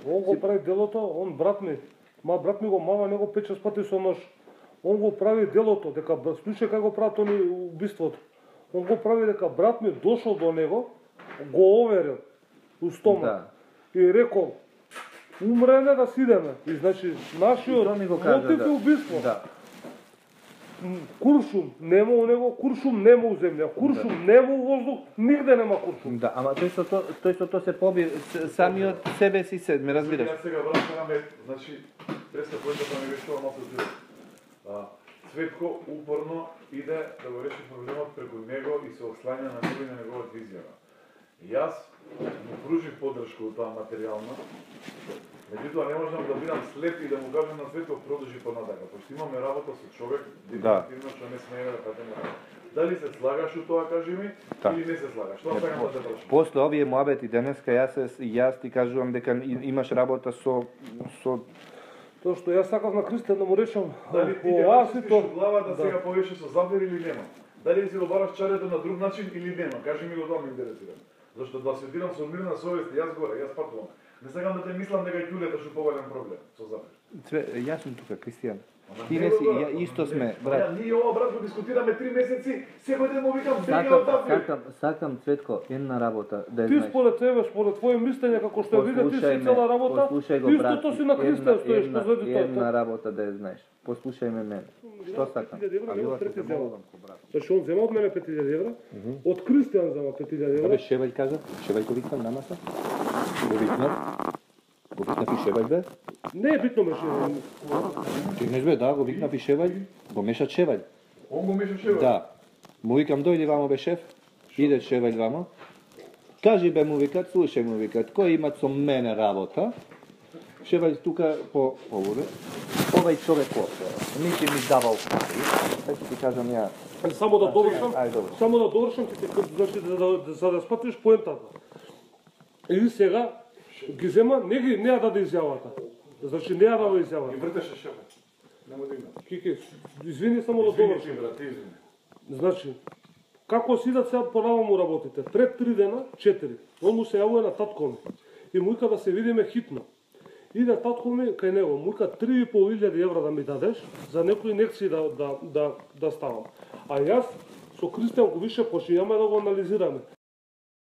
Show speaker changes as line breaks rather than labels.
Он го прави делото, он брат ми го мава него 5-6 пати со нож. Он го прави делото, дека слушај како го прават они убиството. Он го прави дека брат ми дошол до него, го оверил у стома.
Да.
И рекол, умрене да сидеме. И значи нашиот мотив е убиство.
Да.
Куршум нема у него, куршум нема у земја, куршум нема у воздух, нигде нема куршум.
Да, ама тој со тоа се поби самиот себе си се, ме разбираш.
Ја сега враќаме, значи, преска поентата ми беше тоа малку здрво. Цветко упорно иде да го реши проблемот преку него и се ослања на него и на неговата изјава. Јас му пружив поддршка у тоа материјална, меѓутоа не можам да бидам слеп и да му кажам на Цветко продолжи понатака, пошто имаме работа со човек дефинитивно што не смее да патеме работа. Дали се слагаш у тоа, кажи ми, или не се слагаш? Тоа сакам да те прашам.
После овие моабети денеска јас ти кажувам дека имаш работа со
Тоа што јас сакав на Кристијан да му речам,
дали ти ќе чистиш глава да сега повеше со Зафир или нема? Дали си го бараш чарето на друг начин или нема? Кажи ми го тоа ме интересира. Зашто да сведирам со мирна совест, јас горе, јас патувам. Не сакам да те мислам дека ќулета што повален проблем со Зафир.
Јас сум тука, Кристијан. Ти не си, исто сме, брат.
Ние ова брат го дискутираме 3 месеци, секој ден му викам беги од Зафир.
Сакам Цветко една работа да
Ти
знаеш.
според тебе, според твоje мислење како што виде ти си цела работа, истото си на Кристијан стоиш што зади тоа.
Една работа да ја знаеш. Послушај ме мене. Што сакам?
Зашто он зема од мене 5000 евра, од Кристијан зема 5000 евра.
Абе, Шевај кажа, Шевај го викнам намаса. Го викнав и Шевај бе.
Не е битно меше.
Чекнеш бе, да, го викнав и Шевај, го мешат Шевај.
Он го меша Шевај?
Да. Му викам, дојди вамо бе шеф, иде Шевај вамо. Кажи бе, му викат, слушај му викат, кој имат со мене работа? Шевај тука по оводе. Овај човек овде, нити ми давал пари, така ти кажам ја.
Само да довршам,
добро.
само да довршам, значи за да спатиш поентата. И сега ги зема, не ја даде изјавата. Значи не ја дава изјавата.
Ги вртеше Шевај. Нема да има.
Кики, извини само да довршам.
брат, извини.
Значи, како сидат сега понава му работите? Пред 3 дена, 4. Он му се јавува на татко ми. И му вика да се видиме хитно. Иде татко ми кај него, му вика 3.500 евра да ми дадеш за некои инекции да ставам. А јас со Кристијан го више почињаме да го анализираме.